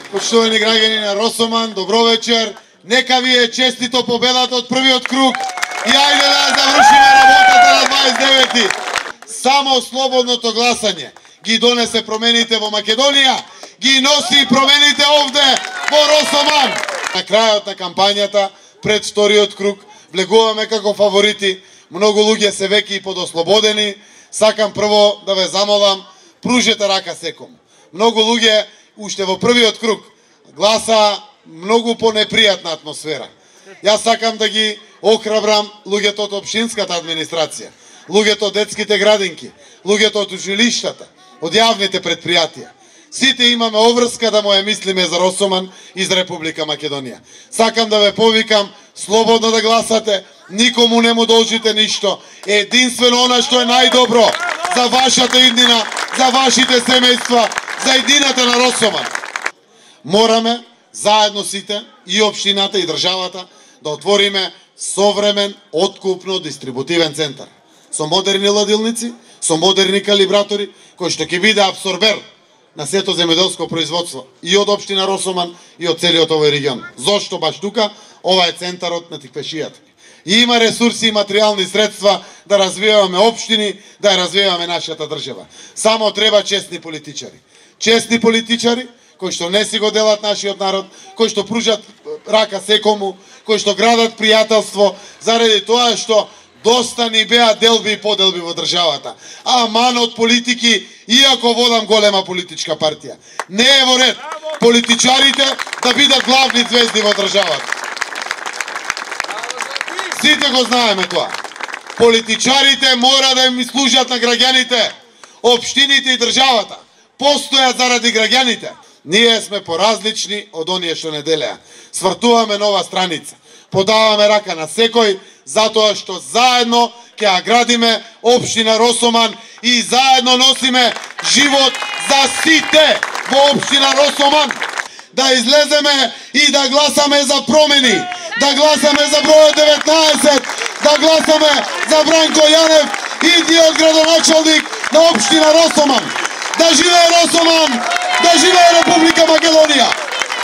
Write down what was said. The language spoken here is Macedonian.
Почитувани граѓани на Росоман, добро вечер. Нека ви е честито победата од првиот круг и ајде да завршиме работата на 29. Само слободното гласање ги донесе промените во Македонија, ги носи промените овде во Росоман. На крајот на кампањата, пред вториот круг, влегуваме како фаворити. Многу луѓе се веќе и подослободени. Сакам прво да ве замолам, пружете рака секому. Многу луѓе уште во првиот круг гласа многу понепријатна атмосфера. Јас сакам да ги охрабрам луѓето од општинската администрација, луѓето од детските градинки, луѓето од училиштата, од јавните предпријатија. Сите имаме обврска да му ја мислиме за Росоман и за Република Македонија. Сакам да ве повикам слободно да гласате, никому не му должите ништо. Единствено она што е најдобро за вашата иднина, за вашите семејства, за иднината на Росоман. Мораме заедно сите, и општината и државата, да отвориме современ откупно-дистрибутивен центар. Со модерни ладилници, со модерни калибратори, кои што ќе биде абсорбер на сето земјоделско производство и од општина Росоман и од целиот овој регион. Зошто баш тука? Ова е центарот на тиквешијата. И има ресурси и материјални средства да развиваме општини, да ја развиваме нашата држава. Само треба честни политичари. Честни политичари кои што не си го делат нашиот народ, кои што пружат рака секому, кои што градат пријателство, заради тоа што доста ни беа делби и поделби во државата. Аман од политики, иако водам голема политичка партија. Не е во ред политичарите да бидат главни звезди во државата. Сите го знаеме тоа. Политичарите мора да им служат на граѓаните, општините и државата. Постојат заради граѓаните. Ние сме поразлични од оние што не делеа. Свртуваме нова страница. Подаваме рака на секој, затоа што заедно ќе ја градиме општина Росоман и заедно носиме живот за сите во општина Росоман. Да излеземе и да гласаме за промени, да гласаме за бројот 19, да гласаме за Бранко Јанев, идниот градоначалник на општина Росоман. Да живее Росоман, да живее Република Македонија!